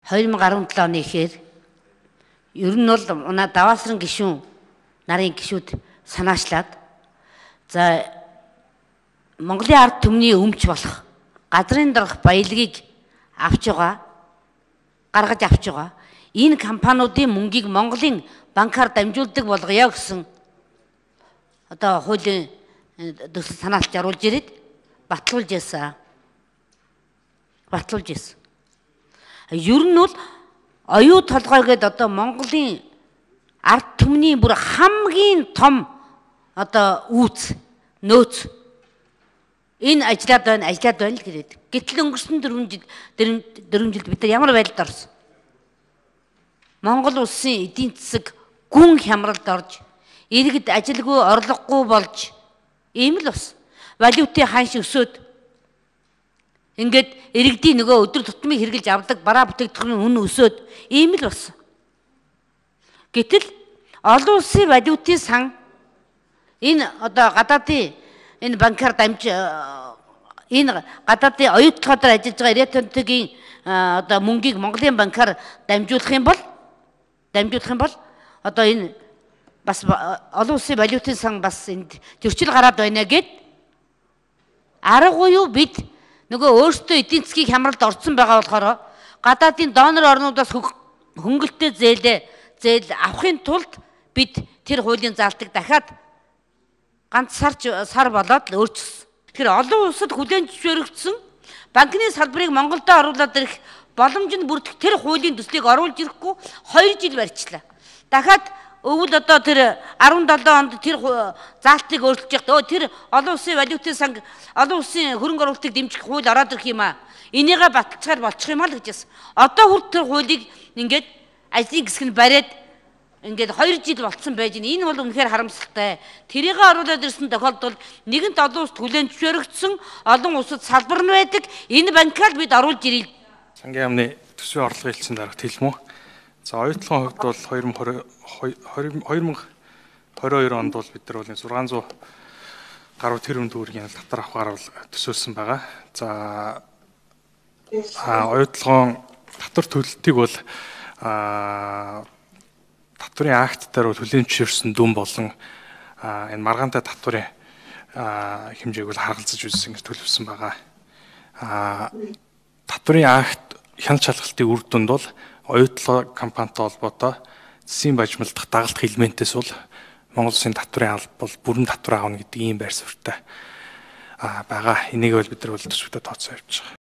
2017 оны ихээр ер нь бол даваасран гишүүн нарын гишүүд санаачлаад за Монголын ард түмний өмч болох газрын дарга баялагийг гаргаж авч байгаа. Энэ компаниудын мөнгийг Монголын банкар дамжуулдаг болгоё гэсэн одоо хуулийн төсөл санаалт заруулж ирээд батлуулж яасан. Ер нь бол оюу толгой гэдэг одоо Монголын ард түмний бүр хамгийн том одоо нөөц энэ ажиллаад байна л гэдэг. Гэтэл өнгөрсөн 4 жилд бид нар ямар байдалд орсон? Монгол улсын эдийн засаг гүн хямралд орж, иргэд ажилгүй орлогогүй болж ийм л бас. Валютын ханш өсөөд ингээд иргэдийн нөгөө өдөр тутмыг хэрглэж авдаг бараа бүтээгдэхүүний үн өсөөд ийм л болсон. Гэтэл олон улсын валютын сан энэ одоо гадаадын энэ банкар энэ гадаадын оюутлогоор ажиллаж байгаа Ирэтэнтгийн одоо мөнгийг Монголын банкар дамжуулах юм бол одоо энэ бас олон улсын валютын сан бас энд зөрчил гараад байна гэд аргагүй юу бид нөгөө өөрсдөө эдийн засгийн хямралд орсон байгаа болохоор гадаадын донор орнуудаас хөнгөлөлтөө зээл авахын тулд бид тэр хуулийн заалтыг дахиад ганц сар болоод л өөрчилсөн. Тэгэхээр олон улсад хүлээн зөвшөөрөгдсөн банкны салбарыг Монголдо оруулаад ирэх боломж нь бүрдэх тэр хуулийн төслийг оруулж ирэхгүй 2 жил барьчлаа. Дахиад өвөл одоо тэр 17 онд тэр заалтыг өөрчилж явахдаа тэр олон улсын валютын сан олон улсын хөрөнгө оруулалтыг дэмжих хууль ороод ирэх юм аа. Энийгээ баталцахаар болчих юм аа л гэж байсан. Одоо хүртэл тэр хуулийг ингээд ажлын хэсэг нь бариад ингээд 2 жил болцсон байж байна. Энэ бол үнэхээр харамсалтай. Тэрийг оруулаад ирсэн тохиолдолд нэгэнт олон улсад хүлээн зөвшөөрөгдсөн олон улсад салбар нь байдаг. Энэ банкаар бид оруулж ирээ. Сангийн яамны төсвийн орлогын хэлтсийн дарагт хэлмүү. За оюутлогын хувьд бол 2022 онд бол бид нар бол 600 гаруй тэрбум төгрөгийн татвар авахаар бол төсөөлсөн байгаа. За оюутлогын татвар төлөлтийг бол татварын актаар бол хүлээн зөвшөөрсөн дүн болон энэ маргаантай татварын хэмжээг бол харгалзаж үзсэн гэж төлөвлөсөн байгаа. Татварын акт хяналт шалгалтын үр дүнд бол оюутлог компанитай холбоотой засгийн бажимлах дагалдах элементээс бол Монгол Улсын татварын алба бол бүрэн татвар аавна гэдэг ийм байр суурьтай байгаа. Энийг бол бид нар бол төсөвтэй тооцоо явьж байгаа.